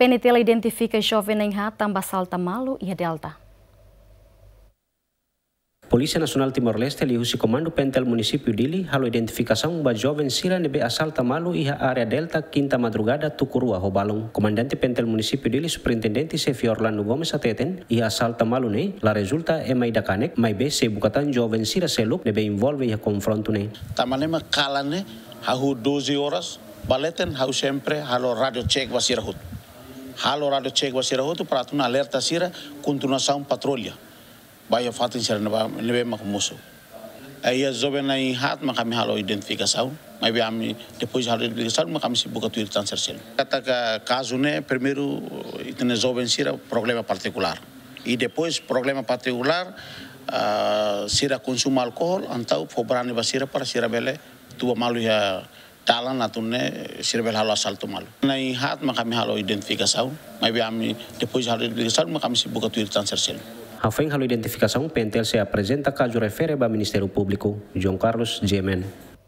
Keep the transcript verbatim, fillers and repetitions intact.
N T L identifika joven na'in-haat tanba asalta malu iha Delta. Polísia Nasionál Timor-Leste liuhusi Komandu Pentel Munisípiu Dili halo identifikasaun ba joven sira ne'ebé asalta malu iha área Delta, Kinta Madrugada, Tuku Rua ho balun. Komandante Pentel Munisípiu Dili, Superintendente Xefe Orlando Gomes hateten, iha asalta malu ne'e la rezulta ema ida kanek, maibé sei buka tan joven sira seluk ne'ebé envolve iha konfrontu ne'e. Tanba ne'e mak kalan ne'e, hahú doze horas, ba leten, ha'u sempre halo rádiu check ba sira hotu. Halo rádiu check ba sira hotu, para atu alerta sira, kontinuasaun patrulla ba iha fatin sira ne'ebá, ne'ebé mak mosu. Iha joven na'in-haat mak ami halo identifikasaun, maibé ami depois halo identifikasaun, mak ami sei buka tuir tan sira seluk. Katak kazu ne'e, primeiru, ita-nia joven sira problema partikulár. I depois problema partikulár, ah, sira konsumu alkohol, entaun fó brani ba sira para sira bele tuba malu iha dalan atu nune'e sira bele halo asaltu malu. Na'in-haat mak ami halo identifikasaun, maibé ami depois halo identifikasaun, mak ami sei buka tuir tan sira seluk. Hafoin halo identifikasaun, Pentel sei aprezenta kazu refere ba Ministériu Públiku. João Carlos, G M N.